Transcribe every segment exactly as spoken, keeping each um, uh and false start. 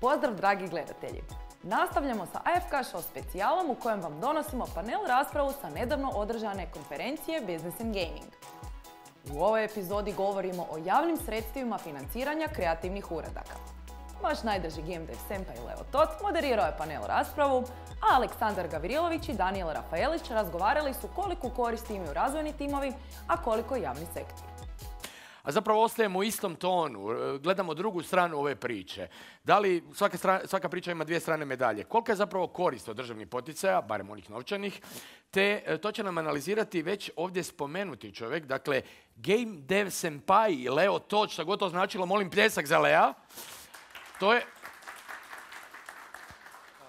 Pozdrav dragi gledatelji! Nastavljamo sa A F K Show specijalom u kojem vam donosimo panel raspravu sa nedavno održane konferencije Business and Gaming. U ovoj epizodi govorimo o javnim sredstvima financiranja kreativnih uradaka. Vaš najdrži game dev senpai Leo Tot moderirao je panel raspravu, a Aleksandar Gavrilović i Danijel Rafaelić razgovarali su koliko koristi imaju razvojni timovi, a koliko javni sektor. A zapravo ostajemo u istom tonu, gledamo drugu stranu ove priče. Da li svaka, strana, svaka priča ima dvije strane medalje? Kolika je zapravo korist od državnih poticaja, barem onih novčanih, te to će nam analizirati već ovdje spomenuti čovjek, dakle Game Dev Senpai Leo Tot, što god to značilo, molim pljesak za Lea. To je,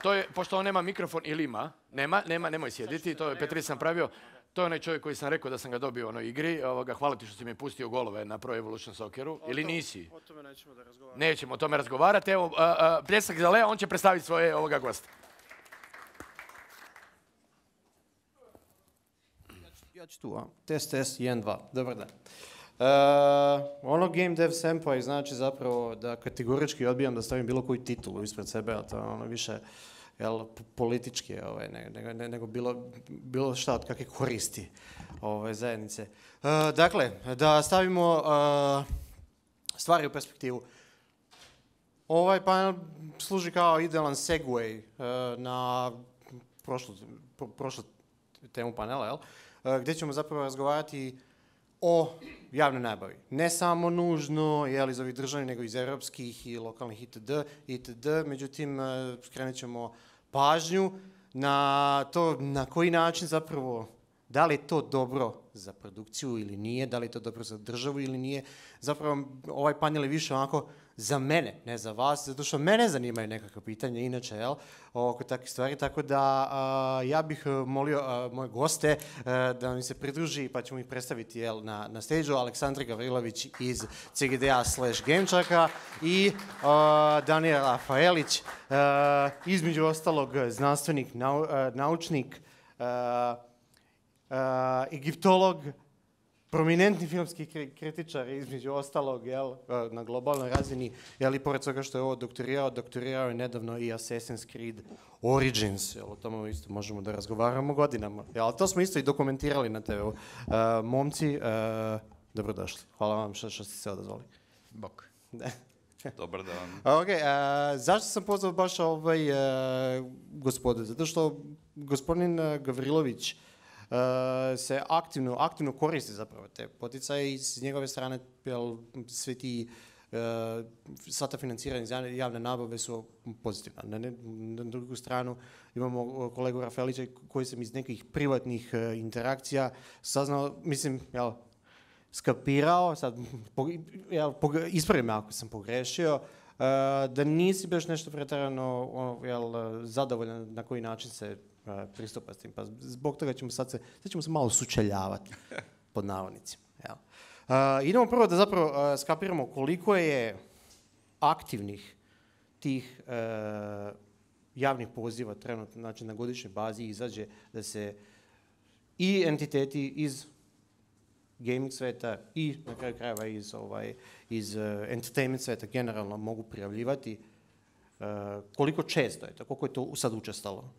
to je, pošto on nema mikrofon ili ima, nema, nema, nemoj sjediti, to je Petri sam pravio. To je onaj čovjek koji sam rekao da sam ga dobio u onoj igri. Ovoga, hvala ti što si mi pustio golove na Pro Evolution Socceru. Ili nisi? O tome nećemo da razgovaramo. Nećemo o tome razgovarati. Evo, a, a, pljesak za Lea, on će predstaviti svoje ovoga gosta. Ja ću tu, a? Test, test, jedan, dva. Dobar dan. Uh, ono Game Dev Senpai znači zapravo da kategorički odbijam da stavim bilo koju titulu ispred sebe, a to je ono više jel, politički, ovaj, nego, nego, nego bilo, bilo šta od kakve koristi ovaj, zajednice. Uh, dakle, da stavimo uh, stvari u perspektivu. Ovaj panel služi kao idealan segway uh, na prošlu, pro, prošlu temu panela, jel? Uh, gdje ćemo zapravo razgovarati o javnoj nabavi. Ne samo nužno jel, iz ovih državnih, nego iz europskih i lokalnih itd. itd. Međutim, skrenut ćemo pažnju na to na koji način zapravo, da li je to dobro za produkciju ili nije, da li je to dobro za državu ili nije. Zapravo ovaj panel je više onako za mene, ne za vas, zato što mene zanimaju nekakve pitanja inače, jel, oko takvih stvari, tako da a, ja bih molio a, moje goste a, da mi se pridruži, pa ćemo ih predstaviti, jel, na, na stage-u, Aleksandar Gavrilović iz C G D A slash Gamečaka i a, Danijel Rafaelić, a, između ostalog znanstvenik, nau, a, naučnik, a, a, egiptolog, prominentni filmski kritičar, između ostalog, jel, na globalnoj razini, jel, i pored toga što je ovo doktorirao, doktorirao je nedavno i Assassin's Creed Origins, jel, o tome isto možemo da razgovaramo godinama, jel, ali to smo isto i dokumentirali na te V U. Uh, momci, uh, dobrodošli. Hvala vam što, što ste se odazvali. Bok. Dobar dan. Ok, uh, zašto sam pozvao baš ovaj uh, gospode? Zato što gospodin uh, Gavrilović Uh, se aktivno, aktivno koristi zapravo te poticaje i s njegove strane jel, sve ti, uh, sva ta financiranja javne nabave su pozitivna. Na, ne, na drugu stranu imamo kolegu Rafaelića koji sam iz nekih privatnih uh, interakcija saznao, mislim, jel, skapirao, sad, po, jel, po, ispravi me ako sam pogrešio, uh, da nisi baš nešto pretjerano jel, zadovoljan na koji način se pristupa s tim. Pa zbog toga ćemo sad se, sad ćemo se malo sučeljavati pod navodnicima. Uh, idemo prvo da zapravo uh, skapiramo koliko je aktivnih tih uh, javnih poziva trenutno, znači na godišnjoj bazi izađe da se i entiteti iz gaming sveta i na kraju krajeva iz, ovaj, iz uh, entertainment sveta generalno mogu prijavljivati. Uh, koliko često je to, koliko je to sad učestalo?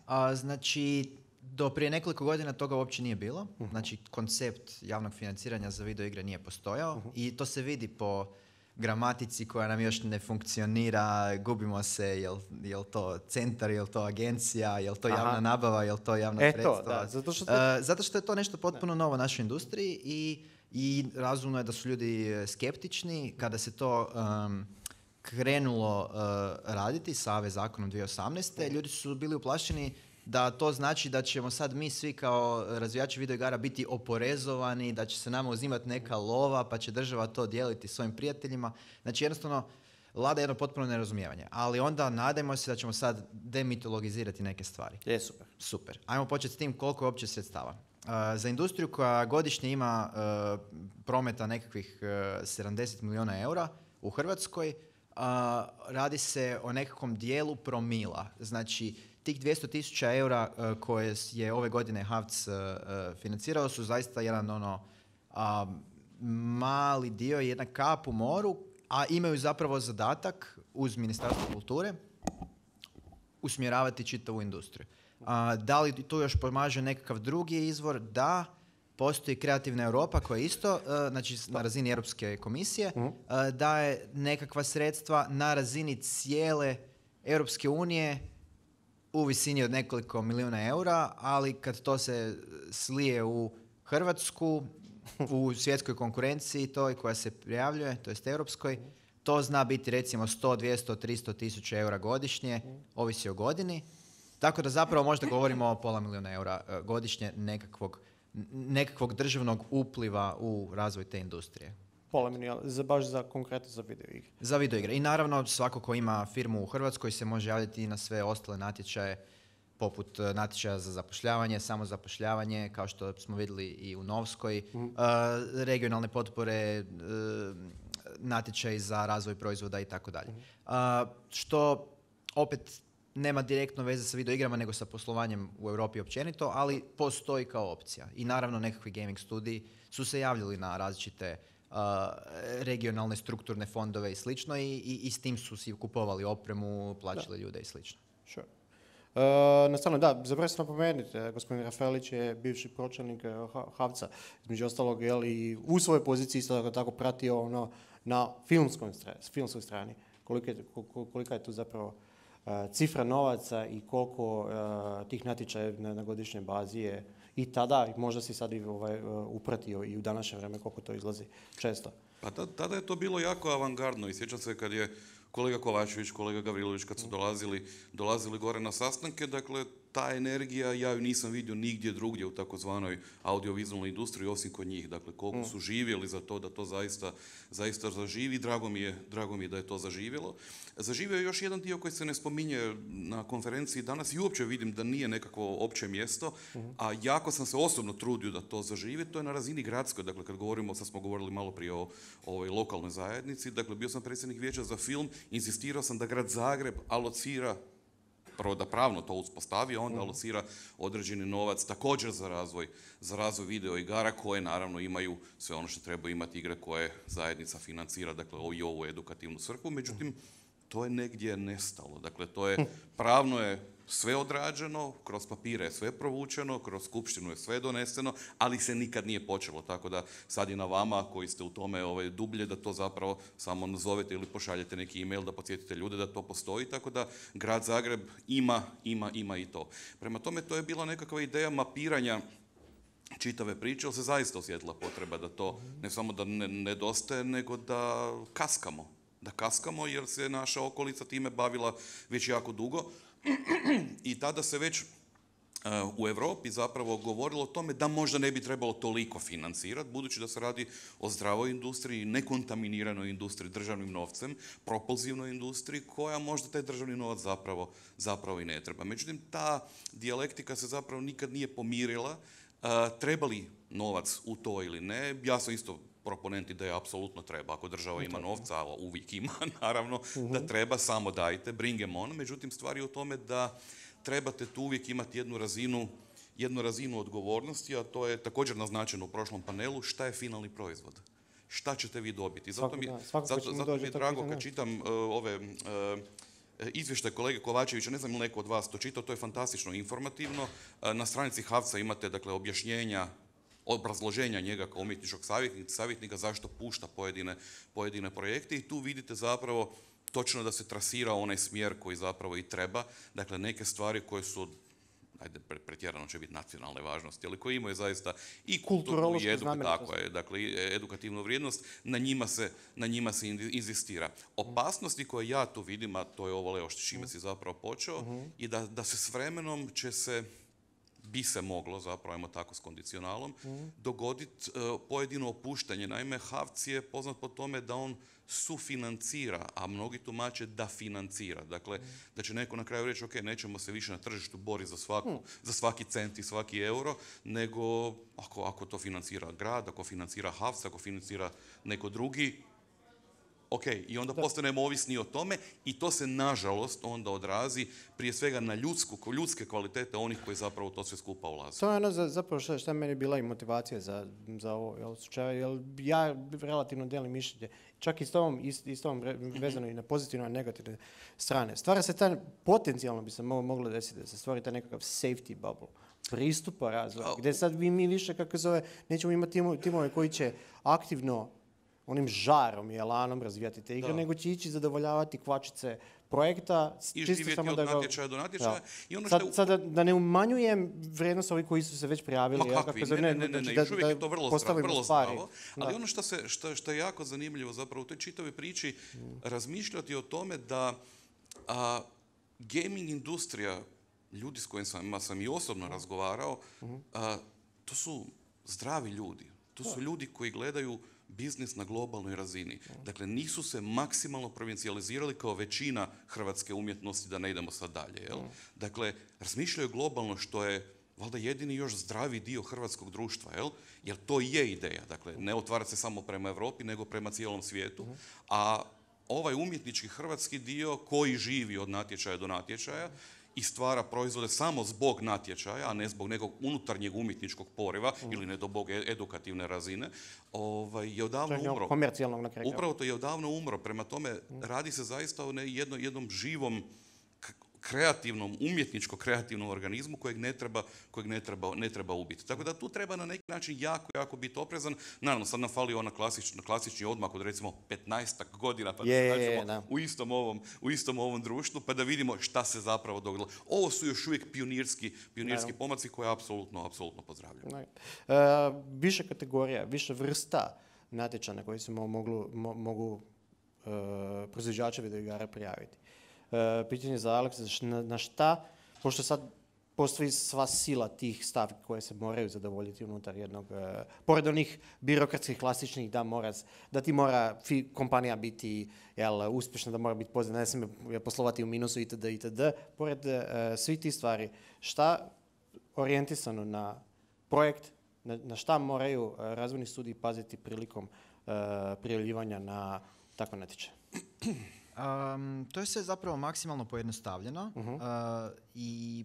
A, znači, do prije nekoliko godina toga uopće nije bilo. Uh-huh. Znači, koncept javnog financiranja za video igre nije postojao uh-huh. i to se vidi po gramatici koja nam još ne funkcionira, gubimo se, jel, jel to centar, jel to agencija, jel to javna Aha. nabava, jel to javna e sredstva. To, da, zato, što to... uh, zato što je to nešto potpuno ne. novo u našoj industriji i, i razumno je da su ljudi skeptični kada se to... Um, krenulo uh, raditi sa A V zakonom dvije tisuće osamnaeste. Ljudi su bili uplašeni da to znači da ćemo sad mi svi kao razvijači videoigara biti oporezovani, da će se nama uzimati neka lova pa će država to dijeliti svojim prijateljima. Znači jednostavno vlada jedno potpuno nerazumijevanje. Ali onda nadajmo se da ćemo sad demitologizirati neke stvari. Je, super. Super. Ajmo početi s tim koliko je uopće sredstava. Uh, za industriju koja godišnje ima uh, prometa nekakvih uh, sedamdeset milijuna eura u Hrvatskoj, Uh, radi se o nekakvom dijelu promila. Znači, tih dvjesto tisuća eura uh, koje je ove godine H A V C uh, uh, financirao su zaista jedan ono uh, mali dio, jedna kap u moru, a imaju zapravo zadatak uz Ministarstvo kulture usmjeravati čitavu industriju. A, da li tu još pomaže nekakav drugi izvor? Da, postoji Kreativna Europa koja isto, uh, znači na razini Europske komisije, uh, daje nekakva sredstva na razini cijele Europske unije u visini od nekoliko milijuna eura, ali kad to se slije u Hrvatsku, u svjetskoj konkurenciji toj koja se prijavljuje, to jest europskoj, to zna biti recimo sto, dvjesto, tristo tisuća eura godišnje, ovisi o godini. Tako da zapravo možda govorimo o pola milijuna eura uh, godišnje nekakvog, nekakvog državnog upliva u razvoj te industrije. Pola milijuna, za, baš za konkretno za video igre. Za video igre. I naravno svako ko ima firmu u Hrvatskoj se može javiti i na sve ostale natječaje, poput uh, natječaja za zapošljavanje, samozapošljavanje, kao što smo vidjeli i u Novskoj, mm. uh, regionalne potpore, uh, natječaj za razvoj proizvoda i tako dalje. Što opet nema direktno veze sa video igrama, nego sa poslovanjem u Europi općenito, ali postoji kao opcija. I naravno nekakvi gaming studiji su se javljali na različite uh, regionalne strukturne fondove i slično i, i, i s tim su si kupovali opremu, plaćali da. ljude i slično. Sure. Uh, nastavno, da, zapravo se napomenuti, gospodin Rafaelić je bivši pročelnik uh, Havca, između ostalog, jel, i u svojoj poziciji isto tako, tako pratio ono na filmskoj strani, filmskoj strani, kolika je, kolika je tu zapravo uh, cifra novaca i koliko uh, tih natječaja na, na godišnjoj bazi je i tada, možda si sad i ovaj, uh, upratio i u današnje vrijeme koliko to izlazi često. Pa tada, tada je to bilo jako avangardno i sjećam se kad je kolega Kovačević, kolega Gavrilović, kad su dolazili, dolazili gore na sastanke, dakle, ta energija, ja ju nisam vidio nigdje drugdje u takozvanoj audiovizualnoj industriji, osim kod njih. Dakle, koliko su živjeli za to da to zaista, zaista zaživi, drago mi je, drago mi je da je to zaživjelo. Zaživio je još jedan dio koji se ne spominje na konferenciji danas i uopće vidim da nije nekakvo opće mjesto, a jako sam se osobno trudio da to zaživi, to je na razini gradskoj. Dakle, kad govorimo, sad smo govorili malo prije o, o ovoj lokalnoj zajednici, dakle, bio sam predsjednik vijeća za film, inzistirao sam da grad Zagreb alocira, prvo da pravno to uspostavi, onda alocira određeni novac također za razvoj, za razvoj video igara koje naravno imaju sve ono što treba imati igre koje zajednica financira, dakle i ovu edukativnu svrhu, međutim to je negdje nestalo, dakle to je, pravno je sve odrađeno, kroz papire je sve provučeno, kroz skupštinu je sve doneseno, ali se nikad nije počelo, tako da sad je na vama koji ste u tome ovaj, dublje da to zapravo samo nazovete ili pošaljete neki email da podsjetite ljude da to postoji, tako da grad Zagreb ima, ima, ima i to. Prema tome to je bila nekakva ideja mapiranja čitave priče, ali se zaista osjetila potreba da to ne samo da ne, nedostaje, nego da kaskamo. Da kaskamo jer se naša okolica time bavila već jako dugo. I tada se već uh, u Europi zapravo govorilo o tome da možda ne bi trebalo toliko financirati, budući da se radi o zdravoj industriji, nekontaminiranoj industriji državnim novcem, propulzivnoj industriji koja možda taj državni novac zapravo, zapravo i ne treba. Međutim, ta dijalektika se zapravo nikad nije pomirila. Uh, treba li novac u to ili ne? Ja sam isto proponent ideje apsolutno treba. Ako država ima novca, a uvijek ima, naravno, uh-huh. da treba, samo dajte, bring em on. Međutim, stvar je u tome da trebate tu uvijek imati jednu razinu, jednu razinu odgovornosti, a to je također naznačeno u prošlom panelu, šta je finalni proizvod. Šta ćete vi dobiti? Zato mi, zato, zato mi je drago kad čitam uh, ove... Uh, izvještaj kolege Kovačevića, ne znam ili neko od vas to čitao, to je fantastično informativno. Na stranici Havca imate, dakle, objašnjenja, obrazloženja njega kao umjetničkog savjetnika, savjetnika zašto pušta pojedine, pojedine projekte i tu vidite zapravo točno da se trasira onaj smjer koji zapravo i treba. Dakle, neke stvari koje su, ajde, pretjerano će biti nacionalne važnosti, ali koje imaju zaista i kulturnu i edu, tako je, dakle, edukativnu vrijednost, na njima se, na njima se inzistira. Opasnosti koje ja tu vidim, a to je ovo Leo s čime si zapravo počeo, uh-huh. i da, da se s vremenom će se, bi se moglo, zapravo ajmo tako s kondicionalom, uh-huh. dogoditi uh, pojedino opuštanje. Naime, Havc je poznat po tome da on sufinancira, a mnogi tumače da financira. Dakle, mm. da će neko na kraju reći, ok, nećemo se više na tržištu boriti za, svaku, mm. za svaki cent i svaki euro, nego ako, ako to financira grad, ako financira Havc, ako financira neko drugi, Ok, i onda postanemo ovisni o tome i to se nažalost onda odrazi prije svega na ljudsku, ljudske kvalitete onih koji zapravo to sve skupa ulaze. To je ono za, zapravo šta, šta meni bila i motivacija za, za ovo jel, slučaj, jel ja relativno delim mišljenje, čak i s tom, ist, i s tom vezano i na pozitivne i negativne strane. Stvara se ta, potencijalno bi se mo, moglo desiti da se stvori taj nekakav safety bubble, pristupa razvoja, gdje sad mi, mi više, kako zove, nećemo imati timove, timove koji će aktivno onim žarom i elanom razvijati te igre, da. nego će ići zadovoljavati kvačice projekta. I živjeti od natječaja do natječaja. I ono sad, što je... sad da, da ne umanjujem vrijednost ovih koji su se već prijavili. Ma kakvi, ja, ne, ne, ne, ne, još uvijek je to vrlo zdravo, vrlo zdravo. Ali da. ono što, se, što, što je jako zanimljivo zapravo u toj čitavoj priči, mm. razmišljati o tome da a, gaming industrija, ljudi s kojima sam i osobno mm. razgovarao, mm. a, to su zdravi ljudi. To su ljudi koji gledaju biznis na globalnoj razini. Dakle, nisu se maksimalno provincijalizirali kao većina hrvatske umjetnosti, da ne idemo sad dalje. Jel? Dakle, razmišljaju globalno, što je valjda jedini još zdravi dio hrvatskog društva, jel? Jer to je ideja. Dakle, ne otvarati se samo prema Europi, nego prema cijelom svijetu. A ovaj umjetnički hrvatski dio koji živi od natječaja do natječaja i stvara proizvode samo zbog natječaja, a ne zbog nekog unutarnjeg umjetničkog poriva mm. ili ne do bog edukativne razine, ovaj, je odavno umro. Komercijalnog na kraju. Upravo to je odavno umro. Prema tome, mm. radi se zaista o ne jedno, jednom živom, kreativnom, umjetničko-kreativnom organizmu kojeg ne treba, kojeg ne treba, ne treba ubiti. Tako da tu treba na neki način jako, jako biti oprezan. Naravno, sad nam fali ona klasični, klasični odmak od recimo petnaestak godina, pa je, da se je, nađemo u istom, ovom, u istom ovom društvu, pa da vidimo šta se zapravo dogodilo. Ovo su još uvijek pionirski, pionirski no. pomaci koje apsolutno, apsolutno pozdravljam. No. Uh, više kategorija, više vrsta natječaja na koji se mo, moglu, mo, mogu uh, proizvođače videoigara prijaviti. Uh, pitanje za Aleksa, na, na šta, pošto sad postoji sva sila tih stavki koje se moraju zadovoljiti unutar jednog, uh, pored onih birokratskih klasičnih, da, mora, da ti mora fi, kompanija biti jel, uspješna, da mora biti pozitivna, ne smije poslovati u minusu itd. itd. Pored uh, svih tih stvari, šta orijentisano na projekt, na, na šta moraju uh, razvojni studiji paziti prilikom uh, prijavljivanja na takve natječaje? Um, to je sve zapravo maksimalno pojednostavljeno uh-huh. uh, i,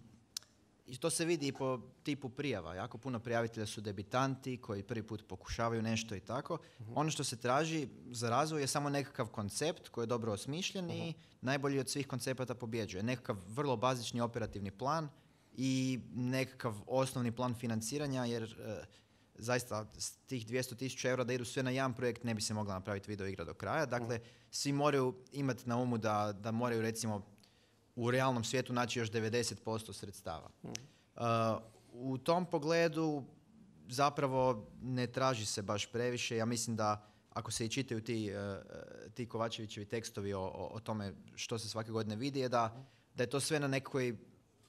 i to se vidi i po tipu prijava. Jako puno prijavitelja su debitanti koji prvi put pokušavaju nešto i tako. Uh-huh. Ono što se traži za razvoj je samo nekakav koncept koji je dobro osmišljen uh-huh. i najbolji od svih koncepata pobjeđuje. Nekakav vrlo bazični operativni plan i nekakav osnovni plan financiranja jer uh, zaista s tih dvjesto tisuća eura da idu sve na jedan projekt ne bi se mogla napraviti video igra do kraja. Dakle, svi moraju imati na umu da, da moraju recimo u realnom svijetu naći još devedeset posto sredstava. Uh, u tom pogledu zapravo ne traži se baš previše. Ja mislim da ako se i čitaju ti, uh, ti Kovačevićevi tekstovi o, o, o tome što se svake godine vidi je da, da je to sve na nekoj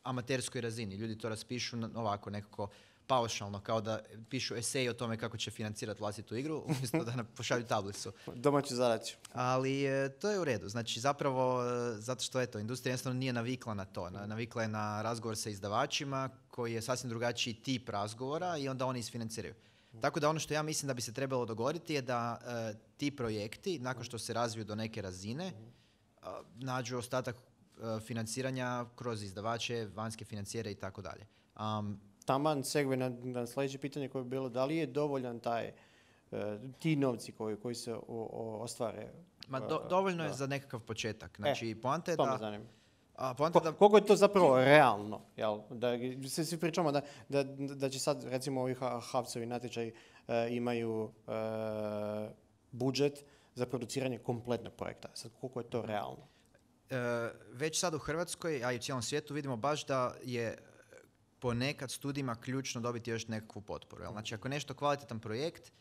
amaterskoj razini. Ljudi to raspišu na, ovako nekako paušalno, kao da pišu esej o tome kako će financirati vlastitu igru, umjesto da nam pošalju tablicu. Domaću zadaću. Ali e, to je u redu. Znači, zapravo, e, zato što eto, industrija jednostavno nije navikla na to. Na, navikla je na razgovor sa izdavačima, koji je sasvim drugačiji tip razgovora i onda oni isfinanciraju. Tako da ono što ja mislim da bi se trebalo dogoditi je da e, ti projekti, nakon što se razviju do neke razine, e, nađu ostatak e, financiranja kroz izdavače, vanjske financijere i tako dalje. Um, Taman segue na, na sljedeće pitanje koje je bilo, da li je dovoljan taj, uh, ti novci koji, koji se o, o, ostvare? Ma do, dovoljno uh, je za nekakav početak. Znači, e, poanta je to da... me zanima. A, poanta Ko, da... Koliko je to zapravo realno? Jel? Da, svi, svi pričamo da, da, da će sad, recimo, ovi Havcovi natječaji uh, imaju uh, budžet za produciranje kompletnog projekta. Sad, koliko je to realno? Uh, već sad u Hrvatskoj, a i u cijelom svijetu, vidimo baš da je ponekad studijima ključno dobiti još nekakvu potporu. Znači, ako je nešto kvalitetan projekt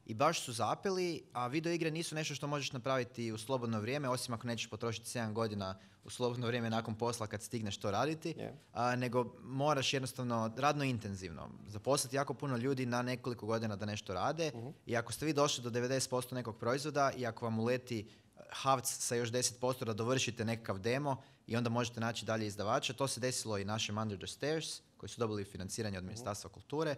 i baš su zapeli, a video igre nisu nešto što možeš napraviti u slobodno vrijeme, osim ako nećeš potrošiti sedam godina u slobodno vrijeme nakon posla kad stigneš to raditi, yeah. a, nego moraš jednostavno radno intenzivno zaposliti jako puno ljudi na nekoliko godina da nešto rade uh-huh. i ako ste vi došli do devedeset posto nekog proizvoda i ako vam uleti Havc sa još deset posto da dovršite nekakav demo i onda možete naći dalje izdavača. To se desilo i našem Under the Stairs koji su dobili financiranje od Ministarstva kulture,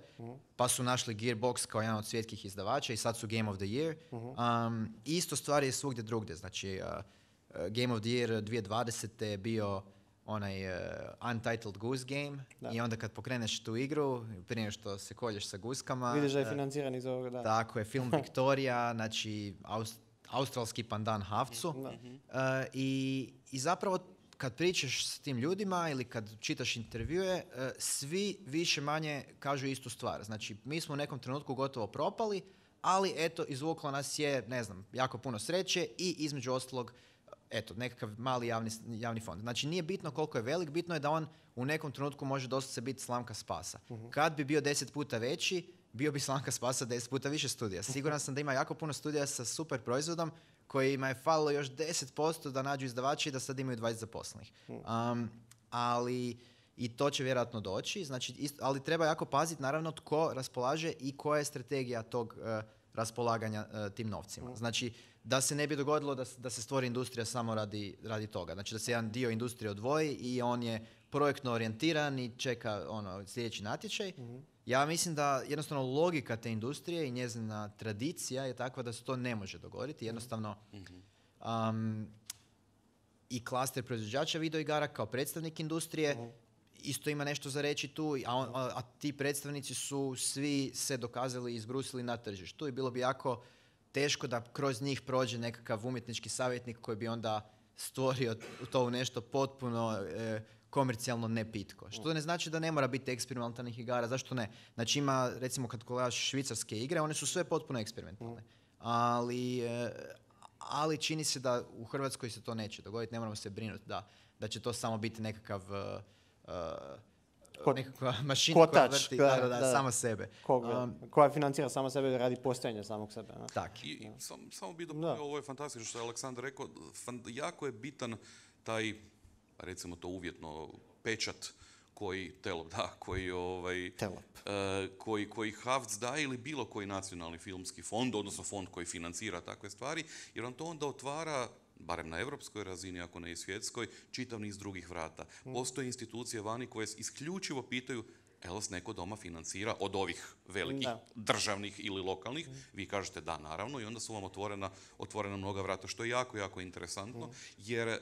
pa su našli Gearbox kao jedan od svjetskih izdavača i sad su Game of the Year. Um, isto stvari je svugdje drugdje, znači uh, uh, Game of the Year dvije tisuće dvadesete je bio onaj uh, Untitled Goose Game Da. i onda kad pokreneš tu igru, prije što se kolješ sa guskama... Vidiš da je uh, financiran iz ovoga, da. Tako je, film Victoria, znači aus, australski pandan Havcu. Da. Uh, i, I zapravo kad pričaš s tim ljudima ili kad čitaš intervjue, uh, svi više manje kažu istu stvar. Znači, mi smo u nekom trenutku gotovo propali, ali eto, izvuklo nas je, ne znam, jako puno sreće i između ostalog, eto, nekakav mali javni, javni fond. Znači, nije bitno koliko je velik, bitno je da on u nekom trenutku može doslovce biti slamka spasa. Uh-huh. Kad bi bio deset puta veći, bio bi slamka spasa deset puta više studija. Siguran sam da ima jako puno studija sa super proizvodom kojima je falilo još deset posto da nađu izdavači i da sad imaju dvadeset zaposlenih. Um, ali i to će vjerojatno doći, znači, isto, ali treba jako paziti naravno tko raspolaže i koja je strategija tog uh, raspolaganja uh, tim novcima. Znači, da se ne bi dogodilo da, da se stvori industrija samo radi, radi toga. Znači, da se jedan dio industrije odvoji i on je projektno orijentiran i čeka ono, sljedeći natječaj. Mm-hmm. Ja mislim da jednostavno logika te industrije i njezina tradicija je takva da se to ne može dogoditi. Jednostavno, um, i klaster proizvođača videoigara kao predstavnik industrije mm-hmm. isto ima nešto za reći tu, a, on, a, a ti predstavnici su svi se dokazali i izbrusili na tržištu i bilo bi jako teško da kroz njih prođe nekakav umjetnički savjetnik koji bi onda stvorio to u nešto potpuno e, komercijalno nepitko. Što ne znači da ne mora biti eksperimentalnih igara, zašto ne? Znači ima, recimo kad gledaš švicarske igre, one su sve potpuno eksperimentalne. Ali, e, ali čini se da u Hrvatskoj se to neće dogoditi, ne moramo se brinuti da, da će to samo biti nekakav uh, Kot, nekakva mašina kotač, koja vrti da, da, da, da. sama sebe. Koga, Um, koja financira sama sebe radi postojanja samog sebe. Ne? tak. I, i sam, samo bi dopunio, ovo je fantastično što je Aleksandar rekao, fan, jako je bitan taj, recimo to uvjetno, pečat koji Telop da, koji, ovaj, Telop. uh, koji, koji Havc da ili bilo koji nacionalni filmski fond, odnosno fond koji financira takve stvari, jer on to onda otvara, barem na europskoj razini, ako ne i svjetskoj, čitav niz drugih vrata. Postoje institucije vani koje isključivo pitaju jel vas neko doma financira od ovih velikih da. državnih ili lokalnih, mm. vi kažete da, naravno, i onda su vam otvorena, otvorena mnoga vrata, što je jako, jako interesantno, mm. jer uh,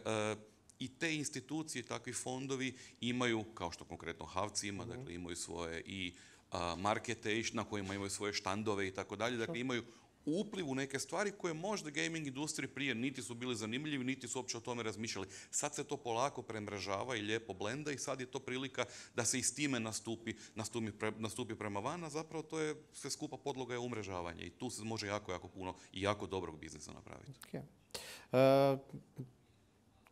i te institucije, takvi fondovi imaju, kao što konkretno Havci ima, mm. dakle imaju svoje i uh, markete na kojima imaju svoje štandove i tako dalje, dakle imaju upliv u neke stvari koje možda gaming industriji prije niti su bili zanimljivi, niti su uopće o tome razmišljali. Sad se to polako premrežava i lijepo blenda i sad je to prilika da se i s time nastupi, nastupi, pre, nastupi prema van, a zapravo to je sve skupa podloga je umrežavanje i tu se može jako, jako puno i jako dobrog biznisa napraviti. Okay. Uh,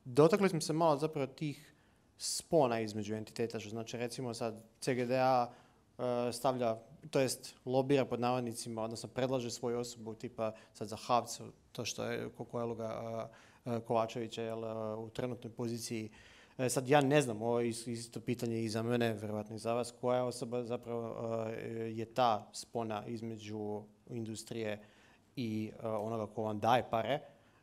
dotakli smo se malo zapravo tih spona između entiteta, što znači recimo sad C G D A uh, stavlja, to jest lobira pod navodnicima, odnosno predlaže svoju osobu tipa sad za Havca, to što je Kokojeluga uh, Kovačevića jel, uh, u trenutnoj poziciji. Uh, sad ja ne znam, ovo je isto pitanje i za mene, vjerojatno i za vas, koja osoba zapravo uh, je ta spona između industrije i uh, onoga ko vam daje pare,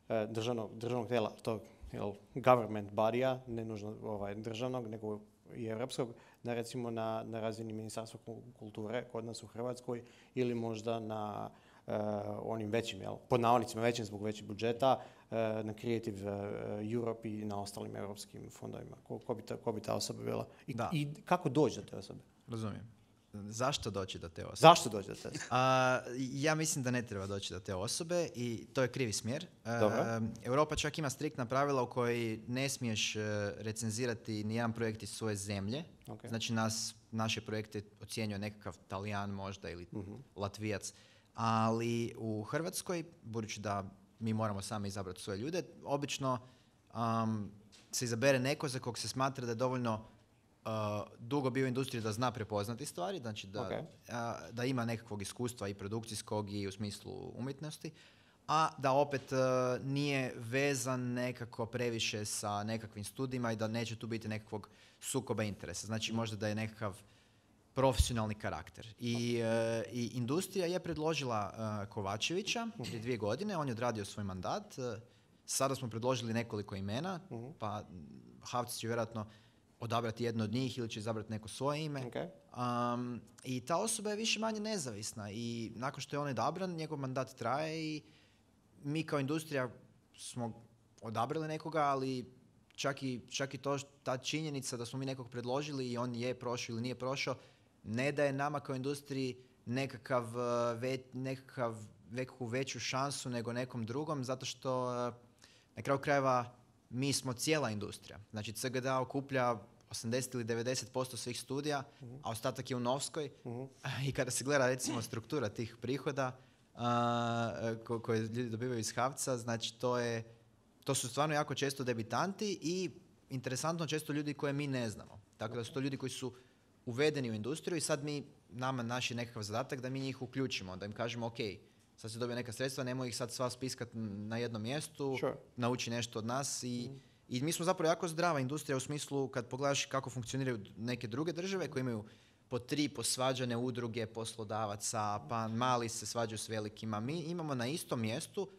uh, državnog, državnog tijela, tog jel, government body-a, ne nužno ovaj, državnog, nego i europskog, na recimo na, na razini Ministarstva kulture kod nas u Hrvatskoj ili možda na uh, onim većim, jel, pod navodnicima većim zbog većih budžeta, uh, na Creative uh, Europe i na ostalim europskim fondovima. Ko, ko, bi, ta, ko bi ta osoba bila? I, i kako doći do te osobe? Razumijem. Zašto doći do te osobe? Zašto doći do te osobe? A, ja mislim da ne treba doći do te osobe i to je krivi smjer. A, Europa čak ima striktna pravila u kojoj ne smiješ recenzirati nijedan projekt iz svoje zemlje. Okay. Znači nas, naše projekte ocjenjuje nekakav Talijan možda ili uh-huh. Latvijac. Ali u Hrvatskoj, budući da mi moramo sami izabrati svoje ljude, obično um, se izabere neko za kog se smatra da je dovoljno Uh, dugo bio u industriji da zna prepoznati stvari, znači da, okay. uh, da ima nekakvog iskustva i produkcijskog i u smislu umjetnosti, a da opet uh, nije vezan nekako previše sa nekakvim studijima i da neće tu biti nekakvog sukoba interesa. Znači možda da je nekakav profesionalni karakter. I, uh, i industrija je predložila uh, Kovačevića prije dvije godine, on je odradio svoj mandat. Uh, sada smo predložili nekoliko imena, uh-huh. pa Havci će vjerojatno odabrati jedno od njih ili će izabrati neko svoje ime. Okay. Um, I ta osoba je više manje nezavisna i nakon što je on odabran, njegov mandat traje i mi kao industrija smo odabrali nekoga, ali čak i, čak i to, ta činjenica da smo mi nekog predložili i on je prošao ili nije prošao, ne daje nama kao industriji nekakav, ve, nekakav nekakvu veću šansu nego nekom drugom, zato što na kraju krajeva mi smo cijela industrija. Znači C G D A okuplja osamdeset ili devedeset posto svih studija, uh-huh. a ostatak je u Novskoj. Uh-huh. I kada se gleda recimo struktura tih prihoda uh, ko, koje ljudi dobivaju iz Havca, znači to je, to su stvarno jako često debitanti i interesantno često ljudi koje mi ne znamo. Tako da su to ljudi koji su uvedeni u industriju i sad mi, nama naš je nekakav zadatak da mi njih uključimo, da im kažemo ok, sad se dobije neka sredstva, nemoj ih sad sva spiskati na jednom mjestu, sure. nauči nešto od nas i, mm. i mi smo zapravo jako zdrava industrija u smislu kad pogledaš kako funkcioniraju neke druge države koje imaju po tri posvađane udruge poslodavaca, pa mali se svađaju s velikima. Mi imamo na istom mjestu,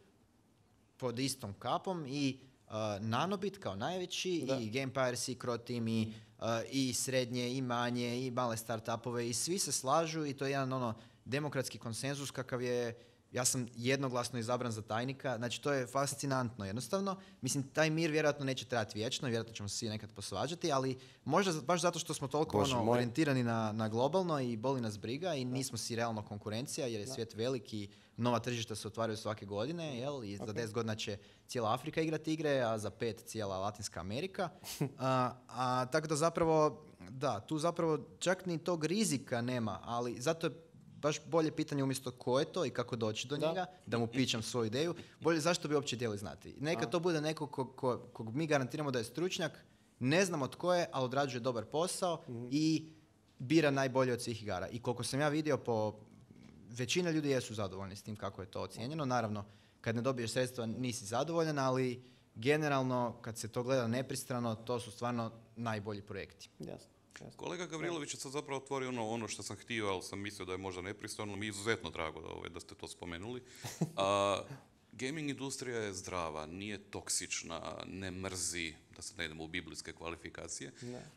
pod istom kapom i uh, Nanobit kao najveći da. i Gamepires i Croteam i, uh, i srednje i manje i male startupove i svi se slažu i to je jedan ono demokratski konsenzus kakav je. Ja sam jednoglasno izabran za tajnika, znači to je fascinantno jednostavno. Mislim, taj mir vjerojatno neće trajati vječno, vjerojatno ćemo se svi nekad posvađati, ali možda baš zato što smo toliko ono, orijentirani na, na globalno i boli nas briga i nismo si realno konkurencija jer je da. svijet veliki, nova tržišta se otvaraju svake godine, jel? I okay. za deset godina će cijela Afrika igrati igre, a za pet cijela Latinska Amerika. a, a tako da zapravo, da, tu zapravo čak ni tog rizika nema, ali zato je baš bolje pitanje umjesto ko je to i kako doći do da. njega, da mu pičam svoju ideju, bolje zašto bi uopće htjeli znati. Neka A. to bude neko kog, kog, kog mi garantiramo da je stručnjak, ne znamo tko je, ali odrađuje dobar posao mm-hmm. i bira najbolje od svih igara. I koliko sam ja vidio, po većina ljudi jesu zadovoljni s tim kako je to ocijenjeno. Naravno, kad ne dobiješ sredstva nisi zadovoljan, ali generalno kad se to gleda nepristrano, to su stvarno najbolji projekti. Jasno. Kolega Gavrilović je sad zapravo otvorio ono, ono što sam htio, ali sam mislio da je možda nepristojno. Mi je izuzetno drago da, ove, da ste to spomenuli. A, gaming industrija je zdrava, nije toksična, ne mrzi, da se ne idemo u biblijske kvalifikacije,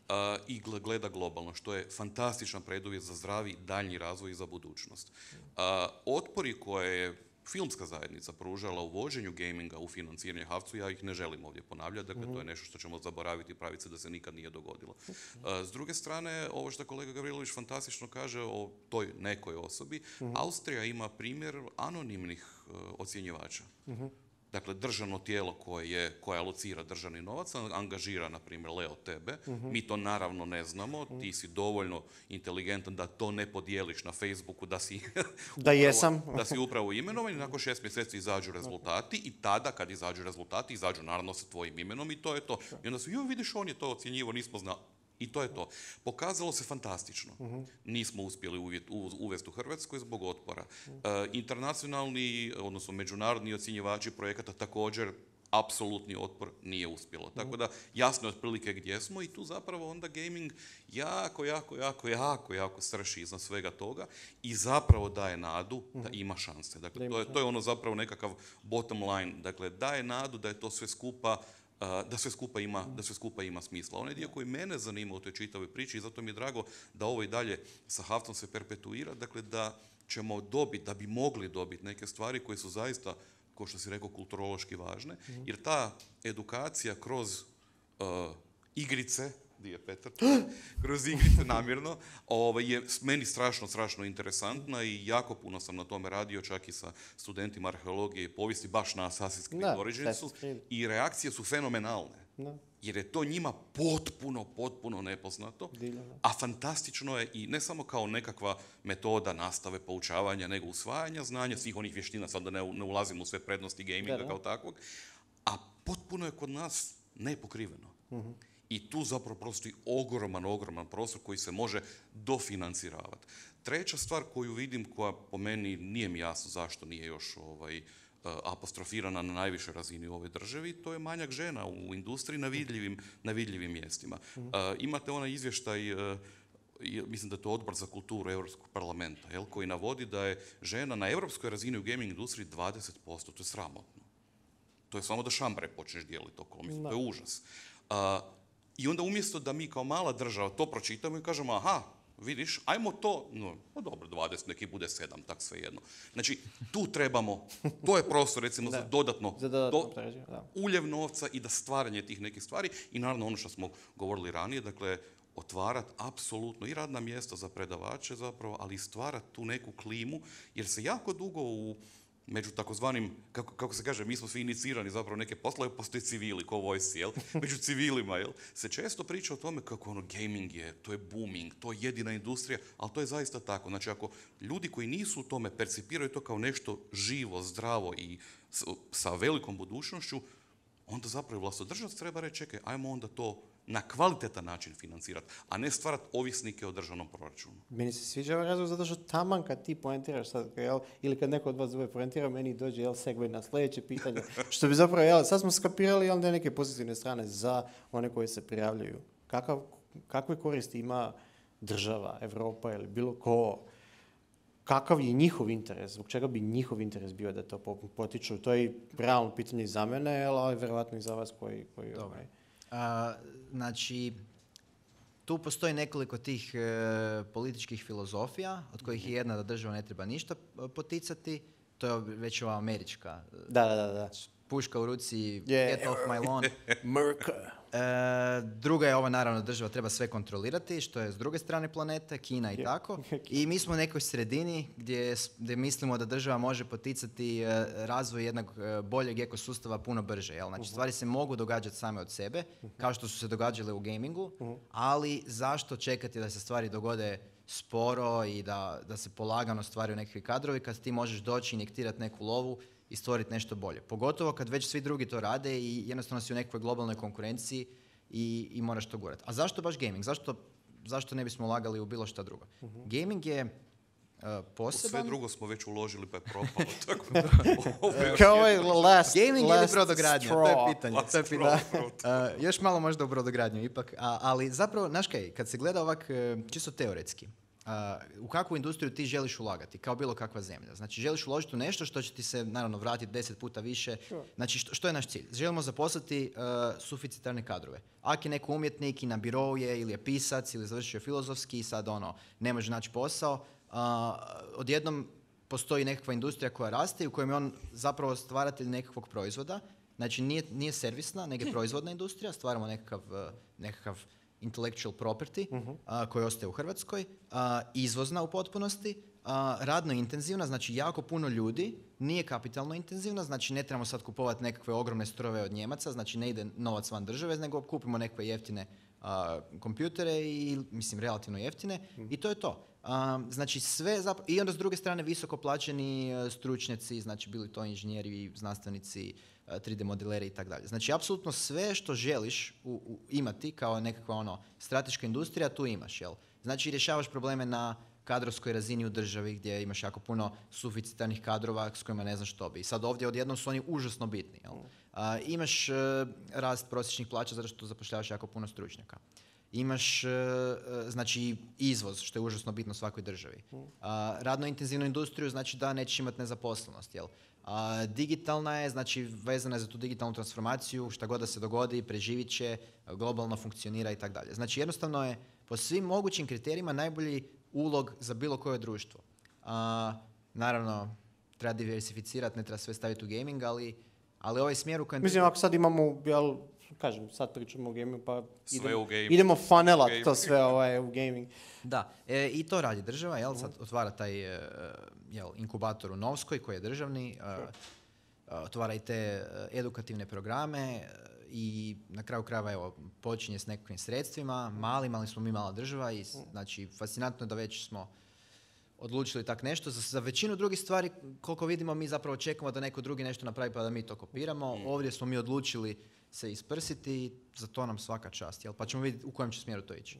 a, i gleda globalno, što je fantastičan preduvjet za zdravi daljnji razvoj i za budućnost. A, otpori koje je filmska zajednica pružala u vođenju gaminga u financiranje Havcu, ja ih ne želim ovdje ponavljati, dakle mm-hmm. to je nešto što ćemo zaboraviti i praviti se da se nikad nije dogodilo. Mm-hmm. S druge strane, ovo što kolega Gavrilović fantastično kaže o toj nekoj osobi, mm-hmm. Austrija ima primjer anonimnih uh, ocjenjivača. Mm-hmm. Dakle, državno tijelo koje, je, koje alocira državni novac, angažira, na primjer, Leo tebe. Uh-huh. Mi to naravno ne znamo. Uh-huh. Ti si dovoljno inteligentan da to ne podijeliš na Facebooku, da si, da, jesam. da si upravo imenovan i nakon šest mjeseci izađu rezultati i tada, kad izađu rezultati, izađu naravno sa tvojim imenom i to je to. I onda su, joj, vidiš, on je to ocjenjivo, nismo znali. I to je to. Pokazalo se fantastično. Uh-huh. Nismo uspjeli uvjet, u, uvesti u Hrvatskoj zbog otpora. Uh-huh. E, internacionalni, odnosno međunarodni ocjenjivači projekata također apsolutni otpor nije uspjelo. Tako da jasno je otprilike gdje smo i tu zapravo onda gaming jako, jako, jako, jako, jako srši iznad svega toga i zapravo daje nadu da ima šanse. Dakle, to je, to je ono zapravo nekakav bottom line. Dakle, daje nadu da je to sve skupa da sve skupa ima, da sve skupa ima smisla. Onaj dio koji mene zanima u toj čitavoj priči i zato mi je drago da ovo i dalje sa Havcom se perpetuira, dakle da ćemo dobiti, da bi mogli dobiti neke stvari koje su zaista, kao što si rekao, kulturološki važne, jer ta edukacija kroz uh, igrice, di je Petar, kroz igrice namjerno, ovaj, je meni strašno, strašno interesantna i jako puno sam na tome radio, čak i sa studentima arheologije i povijesti, baš na Assassin's Creed Originsu, i reakcije su fenomenalne. No. Jer je to njima potpuno, potpuno nepoznato, a fantastično je i ne samo kao nekakva metoda nastave, poučavanja, nego usvajanja znanja, svih onih vještina, sad da ne, ne ulazimo u sve prednosti gaminga da, kao takvog, a potpuno je kod nas nepokriveno. Uh-huh. I tu zapravo postoji ogroman, ogroman prostor koji se može dofinanciravati. Treća stvar koju vidim, koja po meni nije mi jasno zašto nije još ovaj, apostrofirana na najvišoj razini u ovoj državi, to je manjak žena u industriji na vidljivim, na vidljivim mjestima. Uh, imate onaj izvještaj, uh, mislim da je to Odbor za kulturu Europskog parlamenta, jel, koji navodi da je žena na europskoj razini u gaming industriji dvadeset posto, to je sramotno. To je samo da šambare počneš dijeliti okolo, mislim, to je užas. Uh, I onda umjesto da mi kao mala država to pročitamo i kažemo, aha, vidiš, ajmo to, no, no dobro, dvadeset, neki bude sedam, tak svejedno. Znači, tu trebamo, to je prostor recimo za dodatno, za dodatno do, pređe, da. uljev novca i da stvaranje tih nekih stvari i naravno ono što smo govorili ranije, dakle, otvarati apsolutno i radna mjesta za predavače zapravo, ali i stvarati tu neku klimu, jer se jako dugo u među takozvanim, kako, kako se kaže, mi smo svi inicirani zapravo neke poslove, postoje civili, ko vojsci, jel? Među civilima, jel? Se često priča o tome kako ono gaming je, to je booming, to je jedina industrija, ali to je zaista tako. Znači, ako ljudi koji nisu u tome percipiraju to kao nešto živo, zdravo i s, sa velikom budućnošću, onda zapravo vlastodržac treba reći, čekaj, ajmo onda to na kvalitetan način financirati, a ne stvarati ovisnike o državnom proračunu. Meni se sviđa ovaj razlog zato što taman kad ti poentiraš sad, jel, ili kad neko od vas dvoje poentira, meni dođe jel, segway na sljedeće pitanje. Što bi zapravo, jel, sad smo skapirali jel, neke pozitivne strane za one koji se prijavljuju. Kakav, kakve koristi ima država, Evropa ili bilo ko? Kakav je njihov interes? Zbog čega bi njihov interes bio da to potiču? To je realno pitanje i za mene, jel, ali vjerovatno i za vas koji... koji ovaj, A, znači, tu postoji nekoliko tih e, političkih filozofija, od kojih je jedna da država ne treba ništa poticati, to je već ova američka. Da, da, da. da. Puška u ruci, Yeah. get off my lawn. Merka. E, druga je ova, naravno, država treba sve kontrolirati, što je s druge strane planete, Kina i Je. tako. I mi smo u nekoj sredini gdje, s- gdje mislimo da država može poticati e, razvoj jednog e, boljeg ekosustava puno brže. Jel? Znači, stvari se mogu događati same od sebe, kao što su se događale u gamingu, ali zašto čekati da se stvari dogode sporo i da, da se polagano stvaraju nekakvi kadrovi kad ti možeš doći, injektirati neku lovu i stvoriti nešto bolje. Pogotovo kad već svi drugi to rade i jednostavno si u nekoj globalnoj konkurenciji i, i moraš to gurati. A zašto baš gaming? Zašto, zašto ne bismo ulagali u bilo šta drugo? Gaming je uh, U poseban... sve drugo smo već uložili pa je propalo. Tako da, ovo je još Kao ovaj jedno- last, Gaming ili last brodogradnja, to straw. je pitanje. Last To je pitanje. straw, Uh, još malo možda u brodogradnju ipak, a, ali zapravo, znaš kaj, kad se gleda ovak e, čisto teoretski, uh, u kakvu industriju ti želiš ulagati, kao bilo kakva zemlja. Znači, želiš uložiti u nešto što će ti se, naravno, vratiti deset puta više. Znači, što, što je naš cilj? Želimo zaposliti uh, suficitarne kadrove. Ako je neko umjetnik i na birou je, ili je pisac, ili završio filozofski i sad ono, ne može naći posao, uh, odjednom postoji nekakva industrija koja raste i u kojem je on zapravo stvaratelj nekakvog proizvoda. Znači, nije, nije servisna, nego je proizvodna industrija, stvaramo nekakav, uh, nekakav intellectual property a, koji ostaje u Hrvatskoj, a, izvozna u potpunosti, a, radno intenzivna, znači jako puno ljudi, nije kapitalno intenzivna, znači ne trebamo sad kupovati nekakve ogromne strojeve od Njemaca, znači ne ide novac van države, nego kupimo nekakve jeftine a, kompjutere i, mislim, relativno jeftine i to je to. A, znači sve, zap- i onda s druge strane visoko plaćeni e, stručnjaci, znači bili to inženjeri, znanstvenici, e, tri D modeleri i tako dalje. Znači apsolutno sve što želiš u, u- imati kao nekakva ono strateška industrija, tu imaš, jel? Znači rješavaš probleme na kadrovskoj razini u državi gdje imaš jako puno suficitarnih kadrova s kojima ne znaš što bi. I sad ovdje odjednom su oni užasno bitni, jel? A, imaš e, rast prosječnih plaća zato što zapošljavaš jako puno stručnjaka. Imaš, e, e, znači, izvoz, što je užasno bitno svakoj državi. A, radno intenzivnu industriju, znači da nećeš imati nezaposlenost, jel? A, digitalna je, znači, vezana je za tu digitalnu transformaciju, šta god da se dogodi, preživit će, globalno funkcionira i tako dalje. Znači, jednostavno je po svim mogućim kriterijima najbolji ulog za bilo koje društvo. A, naravno, treba diversificirati, ne treba sve staviti u gaming, ali, ali ovaj smjer u kojem... Mislim, ako sad imamo, jel, kažem, sad pričamo o gamingu, pa Sve idemo, u gaming. idemo funelat Gaming. to sve ovaj, u gaming. Da, e, i to radi država, jel, sad otvara taj e, jel, inkubator u Novskoj koji je državni, e, e, otvara i te e, edukativne programe e, i na kraju krajeva evo, počinje s nekakvim sredstvima, malim, ali smo mi mala država i s- znači fascinantno je da već smo odlučili tak nešto. Za, za većinu drugih stvari, koliko vidimo, mi zapravo čekamo da neko drugi nešto napravi pa da mi to kopiramo. Ovdje smo mi odlučili se isprsiti i za to nam svaka čast, jel? Pa ćemo vidjeti u kojem će smjeru to ići.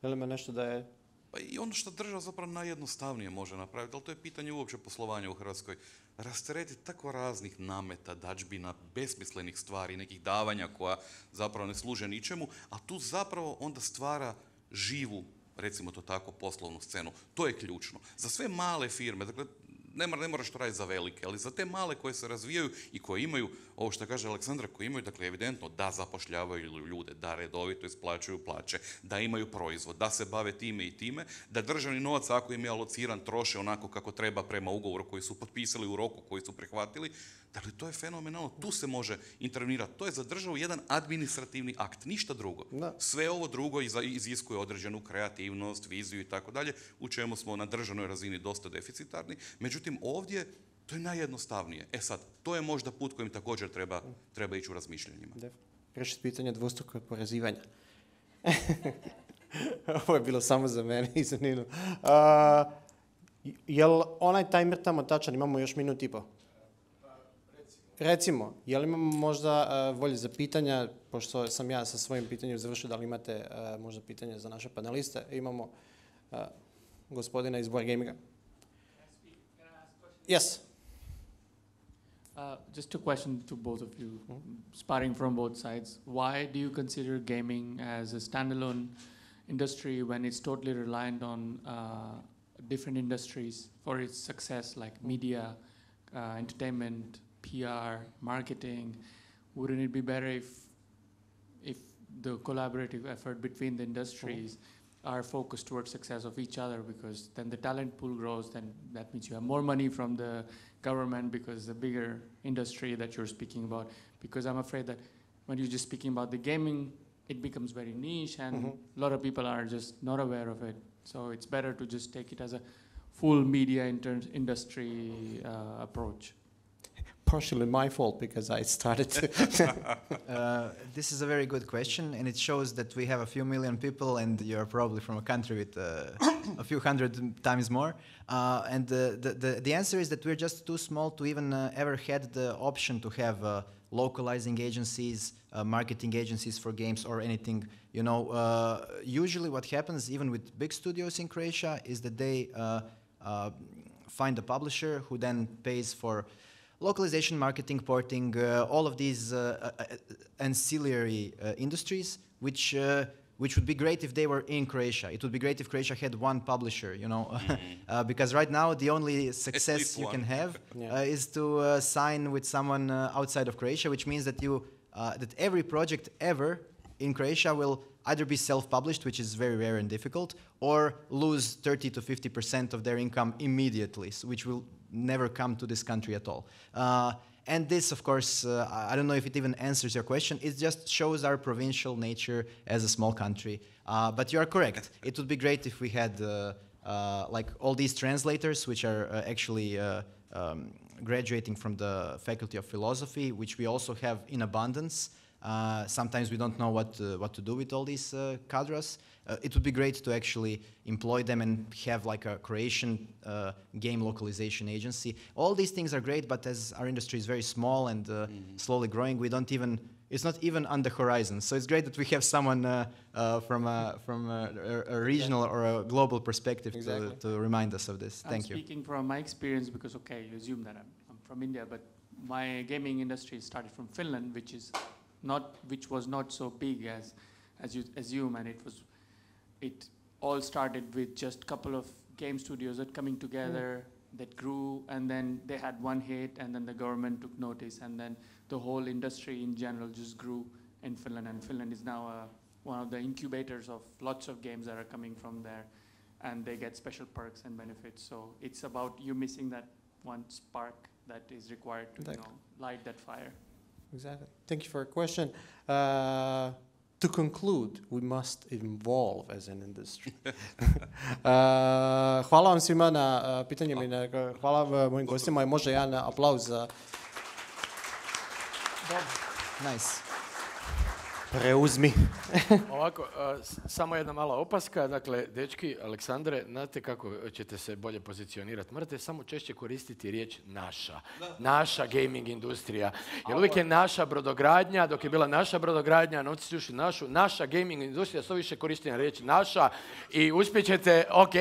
Jel ima nešto da je... Pa i ono što država zapravo najjednostavnije može napraviti, ali to je pitanje uopće poslovanja u Hrvatskoj. Rasteretiti tako raznih nameta, dađbina, besmislenih stvari, nekih davanja koja zapravo ne služe ničemu, a tu zapravo onda stvara živu, recimo to tako, poslovnu scenu. To je ključno. Za sve male firme, dakle, ne, mora, ne moraš to raditi za velike, ali za te male koje se razvijaju i koje imaju, ovo što kaže Aleksandra, koji imaju, dakle, evidentno da zapošljavaju ljude, da redovito isplaćuju plaće, da imaju proizvod, da se bave time i time, da državni novac, ako im je alociran, troše onako kako treba prema ugovoru koji su potpisali u roku koji su prihvatili. Dakle, to je fenomenalno, tu se može intervenirati. To je za državu jedan administrativni akt, ništa drugo. Da. Sve ovo drugo iziskuje određenu kreativnost, viziju i tako dalje, u čemu smo na državnoj razini dosta deficitarni. Međutim, ovdje to je najjednostavnije. E sad, to je možda put kojim također treba, treba ići u razmišljanjima. Riješiti pitanje dvostrukog oporezivanja. Ovo je bilo samo za mene i za Ninu. Uh, jel onaj timer tamo tačan, imamo još minut i po? Recimo, jel imamo možda uh, volje za pitanja, pošto sam ja sa svojim pitanjem završio, da li imate uh, možda pitanje za naše paneliste? Imamo uh, gospodina iz Board Gaminga. Yes. Uh, just a question to both of you, mm-hmm. sparring from both sides. Why do you consider gaming as a standalone industry when it's totally reliant on uh, different industries for its success, like media, uh, entertainment, P R, marketing? Wouldn't it be better if, if the collaborative effort between the industries mm-hmm. are focused towards success of each other, because then the talent pool grows, then that means you have more money from the government because the bigger industry that you're speaking about. Because I'm afraid that when you're just speaking about the gaming, it becomes very niche and mm-hmm. a lot of people are just not aware of it. So it's better to just take it as a full media inter- industry uh, approach. Partially my fault because I started to... uh, this is a very good question, and it shows that we have a few million people and you're probably from a country with uh, a few hundred times more. Uh, and the, the, the, the answer is that we're just too small to even uh, ever had the option to have uh, localizing agencies, uh, marketing agencies for games or anything. You know, uh, usually what happens even with big studios in Croatia is that they uh, uh, find a publisher who then pays for localization, marketing, porting, uh, all of these uh, uh, ancillary uh, industries, which uh, which would be great if they were in Croatia. It would be great if Croatia had one publisher, you know, mm-hmm. uh, because right now the only success you can have yeah. uh, is to uh, sign with someone uh, outside of Croatia, which means that you uh, that every project ever in Croatia will either be self-published, which is very rare and difficult, or lose thirty to fifty percent of their income immediately, so which will never come to this country at all. Uh, and this, of course, uh, I don't know if it even answers your question. It just shows our provincial nature as a small country. Uh, but you are correct. It would be great if we had uh, uh, like all these translators, which are uh, actually uh, um, graduating from the Faculty of Philosophy, which we also have in abundance. Uh, sometimes we don't know what uh, what to do with all these uh, cadres. Uh, it would be great to actually employ them and have like a Croatian uh, game localization agency. All these things are great, but as our industry is very small and uh, mm-hmm. slowly growing, we don't even, it's not even on the horizon. So it's great that we have someone uh, uh, from, a, from a, a regional or a global perspective exactly. to, to remind us of this. I'm Thank you. I'm speaking from my experience because, okay, you assume that I'm, I'm from India, but my gaming industry started from Finland, which is not, which was not so big as, as you assume, and it was, it all started with just a couple of game studios that coming together, mm. that grew, and then they had one hit, and then the government took notice, and then the whole industry in general just grew in Finland, and Finland is now uh, one of the incubators of lots of games that are coming from there, and they get special perks and benefits. So it's about you missing that one spark that is required to you know, light that fire. Exactly. Thank you for your question. Uh, to conclude, we must evolve as an industry. uh, hvala vam svima na uh, pitanjima i na, hvala mojim gostima i može jedan aplauz za... Nice. Preuzmi. Ovako, uh, samo jedna mala opaska. Dakle, dečki, Aleksandre, znate kako ćete se bolje pozicionirati? Morate samo češće koristiti riječ naša. Naša gaming industrija. Jer uvijek je naša brodogradnja, dok je bila naša brodogradnja, novci su ušli našu, naša gaming industrija, sve više koristim riječ naša i uspjećete, ok.